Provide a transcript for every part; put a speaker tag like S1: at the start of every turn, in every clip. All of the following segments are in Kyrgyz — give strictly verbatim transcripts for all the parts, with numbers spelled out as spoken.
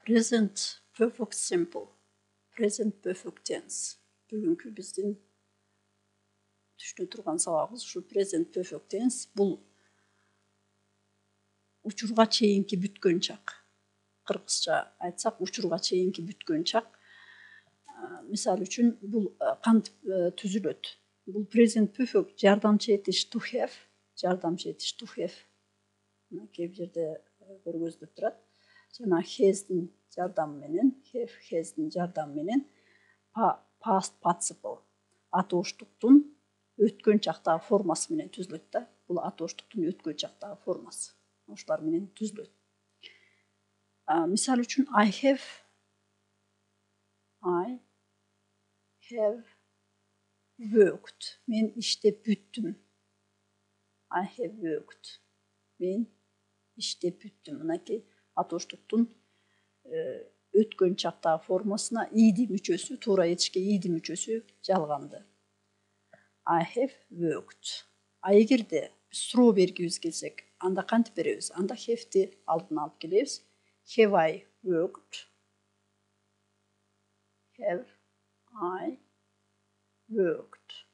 S1: Present perfect simple. Present perfect tense. Бүгүнкү биздин түшүнө турган сабагыбыз ушу present perfect tense. Бул учурга чейинки бүткөн чак. Кыргызча айтсак, учурга чейинки бүткөн чак. Мисалы үчүн бул кантип түзүлөт? Бул present perfect жардамчы этиш to have, жардамчы этиш to have. Кээ бир жерде көргөзүлүп турат. Жана has'дин жардамы менен, have, has'дин жардамы менен past participle атооштуктун өткөн чактагы формасы менен түзүлөт да. Бул атооштуктун өткөн чактагы формасы. Ошолар менен түзүлөт. Мисалы үчүн I have I have worked. Мен иштеп бүттүм. I have worked. Мен иштеп бүттүм. Мынакей атооштуктун өткөн чактагы формасына иди мүчөсү, туура этишке иди мүчөсү жалганды. I have worked. А эгерде суроо бергибиз келсек, анда кантип беребиз? Анда have'ти алдына алып келебиз. Have I worked? Have I worked?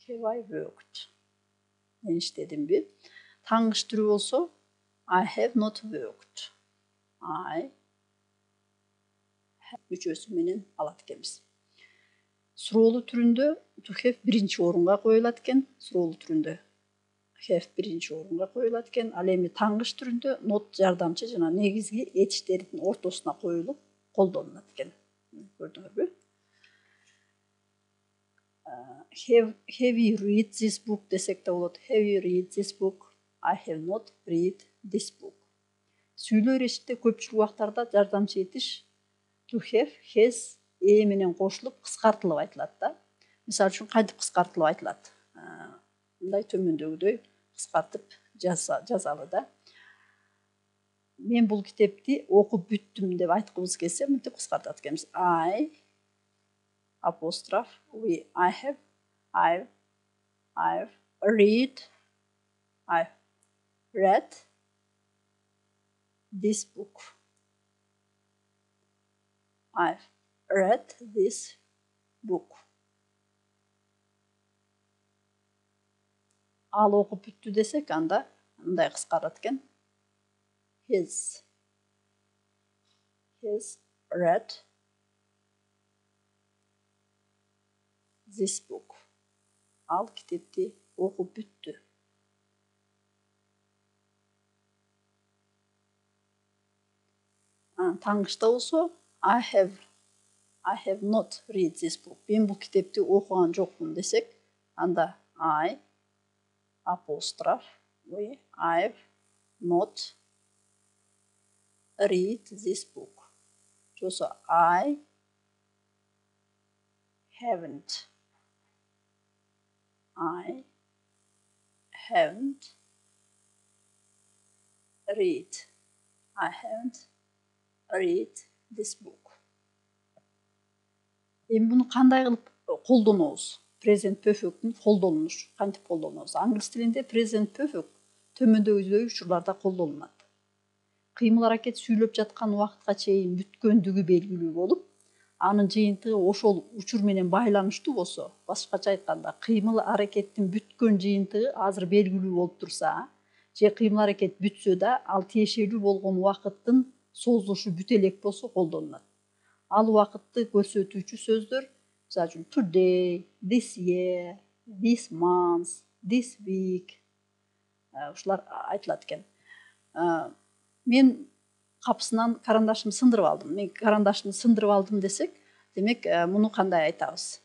S1: Have I worked? Мен иштедимби? Таңгыч түрү болсо I have not worked. I have мүчөсү менен алат экенбиз. Суроолуу түрүндө to have биринчи орунга коюлат экен. Суроолуу түрүндө have биринчи орунга коюлат экен. Ал эми таңгыч түрүндө not жардамчы жана негизги этиштердин ортосуна коюлуп колдонулат экен. Көрдүңөрбү? Have, have you read this book десек да болот. Have you read this book? I have not read this book. Сүйлөө эрешикте көпчүлүк убактарда жардамчы этиш to have, has э менен кошулуп кыскартылып айтылат да. Мисалы үчүн кантип кыскартылып айтылат? Мындай төмөндөгүдөй кыскартып жазалы да. Мен бул китепти окуп бүттүм деп айткыбыз келсе, мынтип кыскартат экенбиз. I apostrophe we I have I've I've read I've read this book. I've read this book. Ал окуп бүттү десек, анда мындай кыскарат экен. Has has read this book. Ал китепти окуп бүттү. Таңгычта болсо I have I have not read this book. Мен бул китепти окуган жокмун десек, анда I apostrophe we I've not read this book. Жосо I haven't I haven't read I haven't read this book. Эми буну кандай кылып колдонобуз? Present perfect'ин колдонуш кантип колдонобуз? Англис тилинде present perfect төмөндөгүдөй учурларда колдонулат. Кыймыл аракет сүйлөп жаткан убакытка чейин бүткөндүгү белгилүү болуп, анын жыйынтыгы ошол учур менен байланыштуу болсо, башкача айтканда, кыймыл аракеттин бүткөн жыйынтыгы азыр белгилүү болуп турса, же кыймыл аракет бүтсө да, ал тиешелүү болгон убакыттын созулушу бүтө элек болсо колдонулат. Ал убакытты көрсөтүүчү сөздөр, мисалы үчүн today, this year, this month, this week. Ушулар айтылат экен. Мен капсынан карандашымды сындырып алдым. Мен карандашымды сындырып алдым десек, демек, муну кандай айтабыз?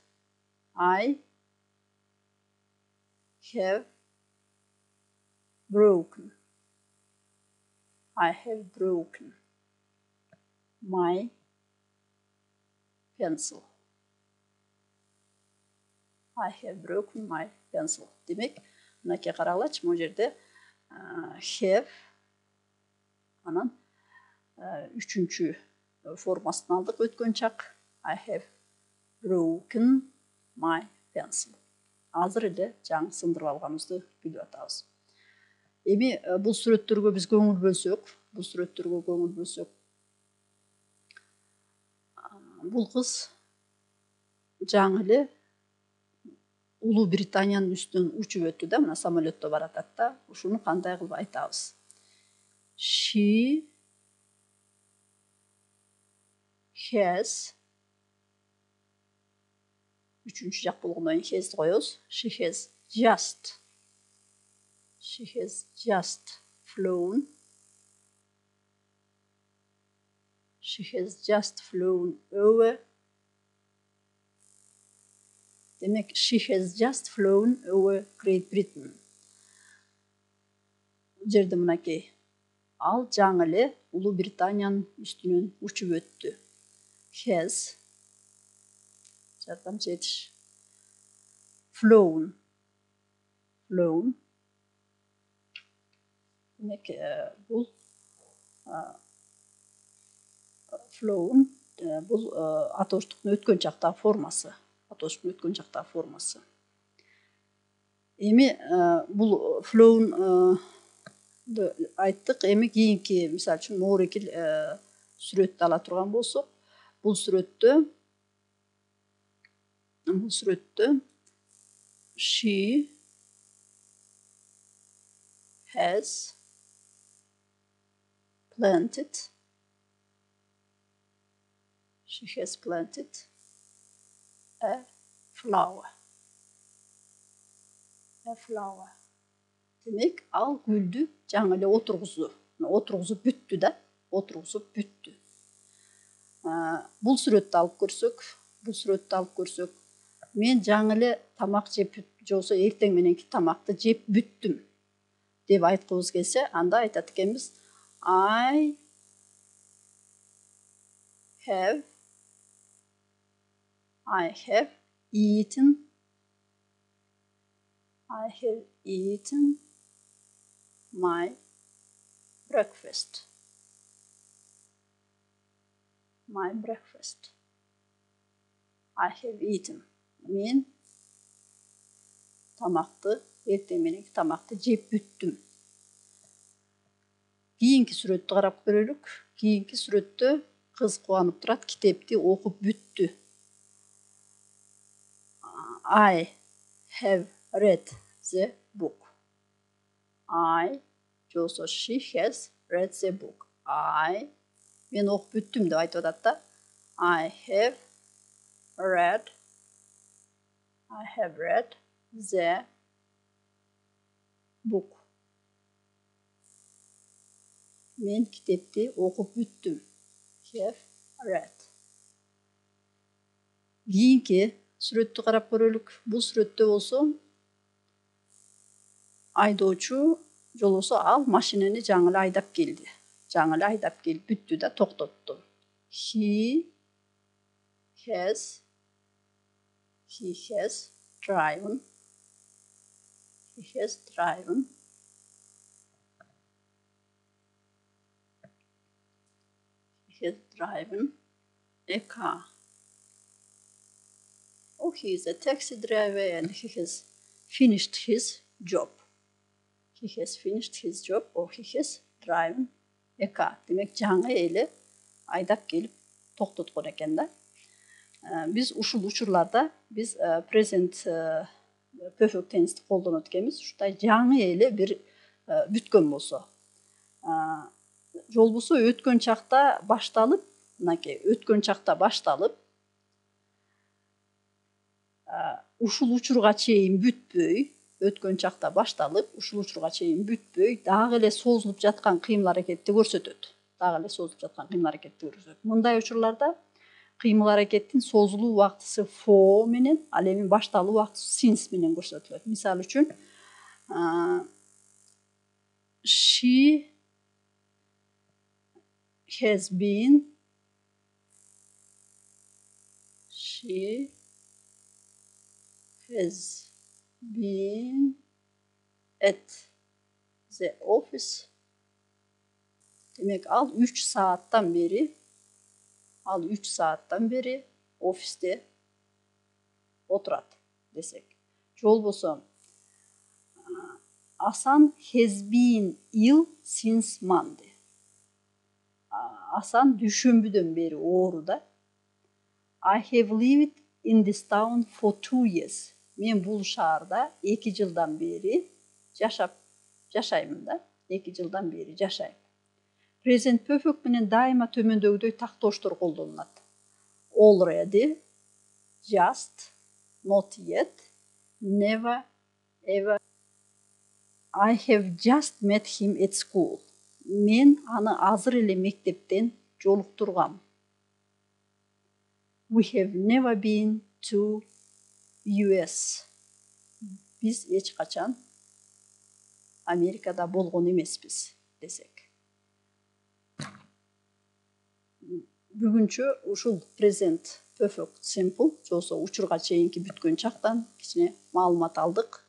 S1: I have broken. I have broken my pencil. I have broken my pencil. Демек, мынакей карагылачы, могу жерде have анан үчүнчү формасын алдык өткөн чак. I have broken my pencil. Азыр эле жаңы сындырып алганыбызды билип атабыз. Эми бул сүрөттөргө биз көңүл бөлсөк, бул сүрөттөргө көңүл бөлсөк, бул кыз жаңы эле Улуу Британиянын үстүнөн учуп өттү да, мына самолетто баратат да. Ушуну кандай кылып айтабыз? She has, үчүнчү жак болгондон кийин has коебуз. She has just, she has just flown, she has just flown over. Демек, she has just flown over Great Britain. Бул жерде мынакей, ал жаңы эле Улуу Британиянын үстүнөн учуп өттү. Has, жардамчы этиш, flown, flown. Демек, бул flown, бул атоштуктун өткөн чактагы формасы. Атоштуктун өткөн чактагы формасы. Эми бул flown айттык. Эми кийинки, мисалы үчүн, моорекил сүрөттү ала турган болсок, бул сүрөттө, бул сүрөттө she has planted, she has planted a flower. A flower. Демек, ал гүлдү жаңы эле отургузду. Отургузуп бүттү да, отургузуп бүттү. Бул сүрөттү алып көрсөк, бул сүрөттү алып көрсөк, мен жаңы эле тамак жеп, же болбосо эртең мененки тамакты жеп бүттүм деп айткыбыз келсе, анда айтат экенбиз: I have, I have eaten, I have eaten my breakfast. My breakfast. I have eaten. Мен тамакты, эртең мененки тамакты жеп бүттүм. Кийинки сүрөттү карап көрөлүк. Кийинки сүрөттө кыз кубанып турат, китепти окуп бүттү. I have read the book. I, же болбосо she has read the book. I, мен окуп бүттүм деп айтып атат да. I have read, I have read the book. Мен китепти окуп бүттүм. Have read. Кийинки сүрөттү карап көрөлүк. Бул сүрөттө болсо айдоочу, же болбосо ал машинени жаңы эле айдап келди. Жаңы эле айдап келип бүттү да, токтотту. He has, he has driven, he has driven, he has driven a car. Oh, he is a taxi driver and he has finished his job. He has finished his job or he has driven a car. Демек, жаңы эле айдап келип токтоткон экен да. Биз ушул учурларда биз present perfect tense'ти колдонот экенбиз. Ушундай жаңы эле бир бүткөн болсо. Же болбосо өткөн чакта башталып, мынакей, өткөн чакта башталып, ушул учурга чейин бүтпөй, өткөн чакта башталып, ушул учурга чейин бүтпөй, дагы эле созулуп жаткан кыймыл-аракетти көрсөтөт. Дагы эле созулуп жаткан кыймыл-аракетти көрсөтөт. Мындай учурларда кыймыл-аракеттин созулуу убактысы for менен, ал эми башталуу убактысы since менен көрсөтүлөт. Мисалы үчүн, she has been, she has been at the office. Демек, ал үч сааттан бери, ал үч сааттан бери офисте отурат десек. Же болбосо, Асан has been ill since Monday. Асан дүйшөмбүдөн бери оору да. I have lived in this town for two years. Мен бул шаарда эки жылдан бери жашап жашаймын да. эки жылдан бери жашайм. Present perfect менен дайыма төмөндөгүдөй тактооштор колдонулат. Already, just, not yet, never, ever. I have just met him at school. Мен аны азыр эле мектептен жолуктургам. We have never been to U S. Биз эч качан Америкада болгон эмеспиз десек. Бүгүнчө ушул present perfect simple жосо учурга чейинки бүткөн чактан кичине маалымат алдык.